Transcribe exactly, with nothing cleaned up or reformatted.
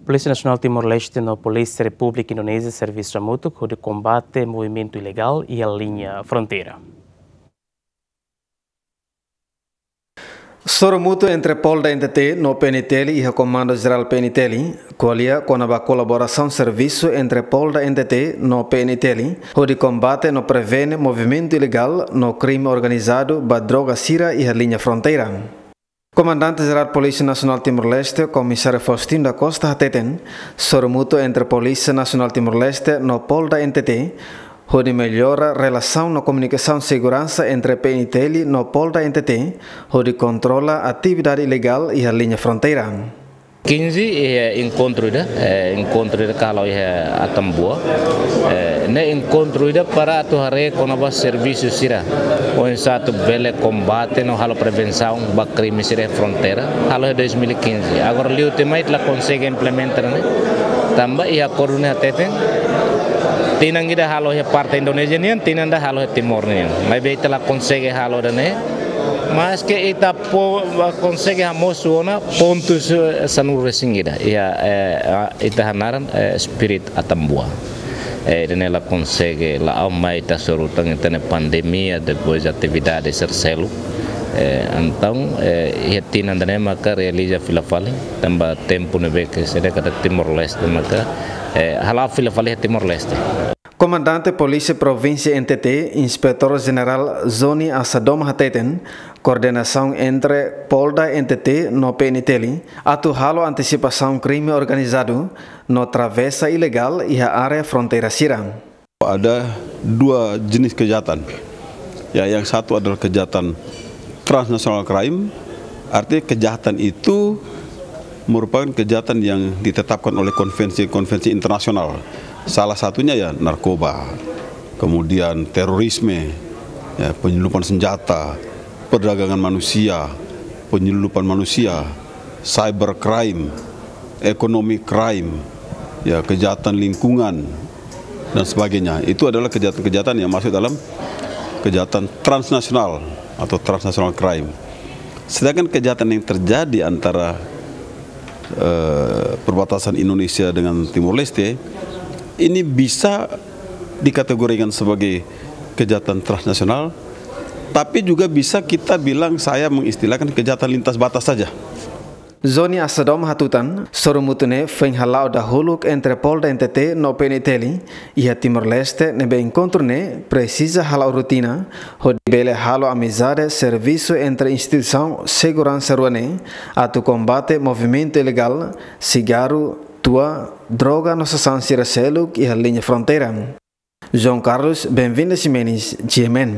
Polísia Nasionál Timor-Leste no Polísia Repúblika Indonézia servisu hamutuk hodi kombate movimentu ilegál iha liña fronteira. Soru mútuu entre Polda N T T no P N T L iha Komandu Jerál P N T L, ko'alia kona-ba kolaborasaun servisu entre Polda N T T no P N T L, hodi kombate no prevene movimentu ilegál no krime organizadu ba droga sira iha liña fronteira. Komandante Jerál Polísia Nasionál Timor-Leste, Komisáriu Faustino da Costa hateten, soru mútuu entre Polísia Nasionál Timor-Leste no Polda N T T, hodi mellora relasaun no komunikasaun seguransa entre P N T L no Polda N T T, hodi kontrola atividade ilegál iha liña fronteira. Quinze, eh, enkontru ida, eh, enkontru ida halo iha Atambua. Eh, ne'e enkontru ida para atu haree kona-ba servisu sira oinsá atu bele kombate no halo prevensaun ba krime sira iha fronteira, halo iha dois mil e quinze. Agora liu tiha mai ita la konsege implementa ne'e. Tanba iha akordu ne'e hateten, tinan ida halo iha parte Indonézia nian, tinan ida halo iha Timor nian. Maibé ita la konsege halo ida-ne'e. Maske ita po, konsege hamosu ona pontus, eh, sanulu-resin-ida. Iha, eh, ah, ita hanaran, eh, spirit Atambua. Eh, ida-ne'e la konsege, la'o mai ita soru tan ita-nia pandemia, depois atividade sira seluk. Eh, entaun, eh, iha tinan ida-ne'e maka realiza fila fali, tanba tempu ne'ebé ke sede kada Timor-Leste maka, eh, hala'o fila fali iha Timor-Leste. Komandante Polísia Provínsia N T T, Inspetór Jerál Zoni Assadoma hateten, koordenasaun entre Polda N T T no P N T L atu halo antisipasaun krime organizadu no travesa ilegál iha área fronteira sira. Ada dua jenis kejahatan. Ya, yang satu adalah kejahatan transnational crime, artinya kejahatan itu merupakan kejahatan yang ditetapkan oleh konvensi-konvensi internasional. Salah satunya ya narkoba, kemudian terorisme, ya, penyelundupan senjata, perdagangan manusia, penyelundupan manusia, cyber crime, ekonomi crime, ya, kejahatan lingkungan, dan sebagainya. Itu adalah kejahatan-kejahatan yang masuk dalam kejahatan transnasional atau transnational crime. Sedangkan kejahatan yang terjadi antara, eh, perbatasan Indonesia dengan Timor Leste, ini bisa dikategorikan sebagai kejahatan transnasional, tapi juga bisa kita bilang, saya mengistilahkan kejahatan lintas batas saja. Zoni Assadoma hatutan, soru mútuu ne'e foin hala'o dahuluk entre Polda N T T no P N T L iha Timor-Leste, ne'ebé enkontru ne'e presiza hala'o rotina, hodi bele halo amizade servisu entre instituisaun seguransa rua ne'e, atu kombate movimentu ilegál sigarru, tua, droga no sasán sira seluk iha liña fronteira. João Carlos Benvinda Ximenes, G M N.